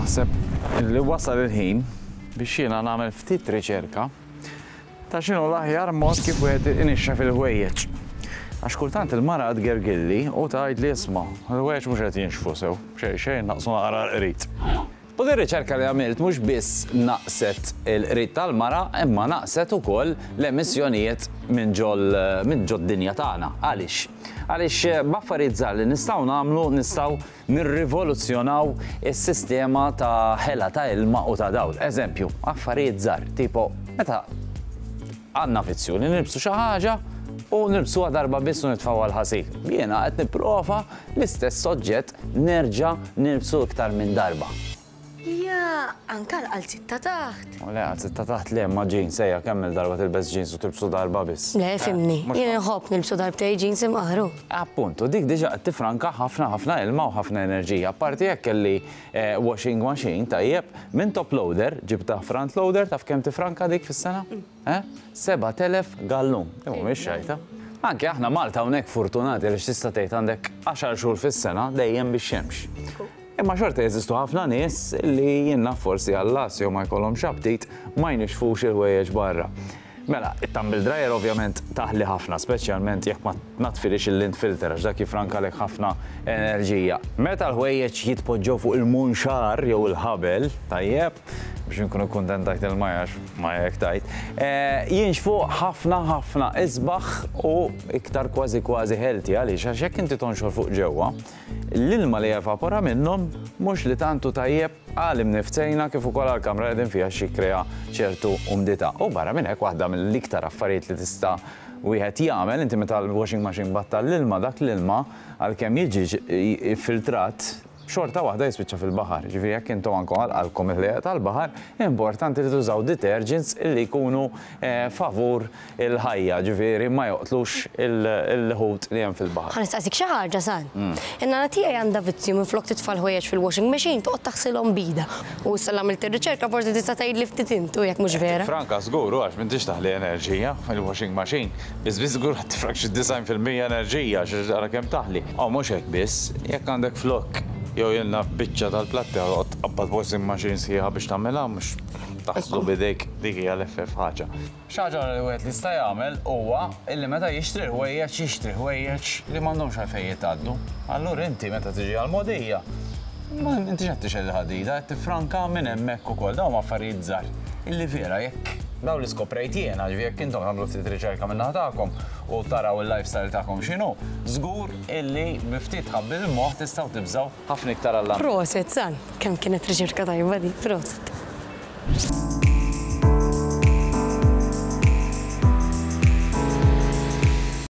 Naħseb li wasal il-ħin biex jiena nagħmel ftit riċerka ta' x'inhu l-aħjar mod kif wieħed inixxef il-ħwejjeġ. Għax kultant il-mara tgergilli u tgħidli isma' il-ħwejjeġ mhux qed jinxfu sew, xejn xejn naqsu naqra l-qrid. U din riċerka li għamilt mhux biss naqset il-qrid tal-mara imma naqset ukoll l-emissjonijiet minn ġol minn ġod-dinja tagħna. Għaliex? Għaliex b'affarijiet żgħar li nistgħu nagħmlu nistgħu nirrivoluzzjonaw is-sistema ta' ħela ta' ilma u ta' dawl. Eżempju, affarijiet żgħar, tipo meta għandna vizzju li nilbsu xi ħaġa u nilbsuha darba biss u nitfgħuha l-ħasil. Jiena qed nipprova l-istess oġġett nerġa' nilbsu iktar minn darba. Ja, anke l-qalziet ta' taħt. U le, qalziet ta' taħt le, imma jeans, ejja, kemm-il darba tilbes jeans u tilbsu darba biss. Le, fhimni, jien inħobb nilbsu darbtejn jeans imqar, hu. Appuntu, dik diġà qed tiffranka ħafna ħafna ilma u ħafna enerġija. Apparti hekk kelli washing machine, tajjeb, minn top loader ġibtha front loader, taf kemm tiffranka dik fis-sena? Eh? 7,000 gallun. Din mhumiex xajta. Anke aħna Malta hawnhekk fortunati għaliex tista' tgħid għandek għaxar xhur fis-sena dejjem bix-xemx. Imma xorta jeżistu ħafna nies li jien naf forsi għall-għas jew ma jkollhomx aptit ma jnixxfux il-ħwejjeġ barra. Mela, it-tumble dryer ovvjament taħli ħafna, speċjalment jekk ma tnaddfilhiex il-lint filter għax dak jiffrankalek ħafna enerġija. Meta l-ħwejjeġ jitpoġġew fuq il-munxar jew il-ħabel, tajjeb, biex inkunu kuntent tgħid il-Maja għax Maja hekk tgħid, jinxfu ħafna ħafna isbaħ u iktar kważi kważi healthy. Għaliex? Għax jekk inti tonxor fuq ġewwa, l-ilma li jevapora minnhom mhux li tant hu tajjeb għal imniftejna kif ukoll għall-kamra li qegħdin fiha għax jikkrea ċertu umdità. U barra minn hekk waħda mill-iktar affarijiet li tista' wieħed jagħmel, inti meta l-washing machine battal l-ilma, dak l-ilma għalkemm jiġi ffiltrat, xorta waħda jispiċċa fil-baħar. Jiġifieri jekk intom anke għal qalbkom il-ħlejjaq tal-baħar, importanti li tużaw detergents li jkunu favur il-ħajja, ġifieri ma joqtlux il-ħut li hemm fil-baħar. Ħa nistaqsik xi ħaġa, San. In-nana tiegħi għandha vizzju minflok titfa' l-ħwejjeġ fil-washing machine toqgħod taħsilhom b'idha. U issa li għamilt ir-riċerka forsi tista' tgħidli ftit int u jekk mhux vera. Tifranka żgur hu għax m'intix taħli enerġija il-washing machine. Biss biss żgur ħa tifrank xi 90% enerġija għax ara kemm taħli. U mhux hekk biss, jekk għandek flokk jew jien naf biċċa tal-platti ħa toqgħod tqabbad washing machine sħiħa biex tagħmilha mhux taħslu b'idejk dik hija l-eħfef ħaġa. Xi ħaġa oħra li wieħed jista' jagħmel huwa illi meta jixtri l-ħwejjeġ jixtri ħwejjeġ li m'għandhomx għalfejn jitgħaddu. Allura inti meta tiġi għall-mogħdija ma intix qed tixgħel il-ħadida, qed tiffranka minn hemmhekk ukoll. Dawn huma affarijiet żgħar illi vera jekk dawn li skoprejt jiena, ġifieri jekk intom tagħmlu ftit riċerka min-naħa tagħkom u taraw il-lifestyle tagħkom x'inhu, żgur illi bi ftit tħabbil il-moħħ tistgħu tibżgħu ħafna iktar għall-ambjent. Proset, San! Kemm kienet riċerka tajba din, proset.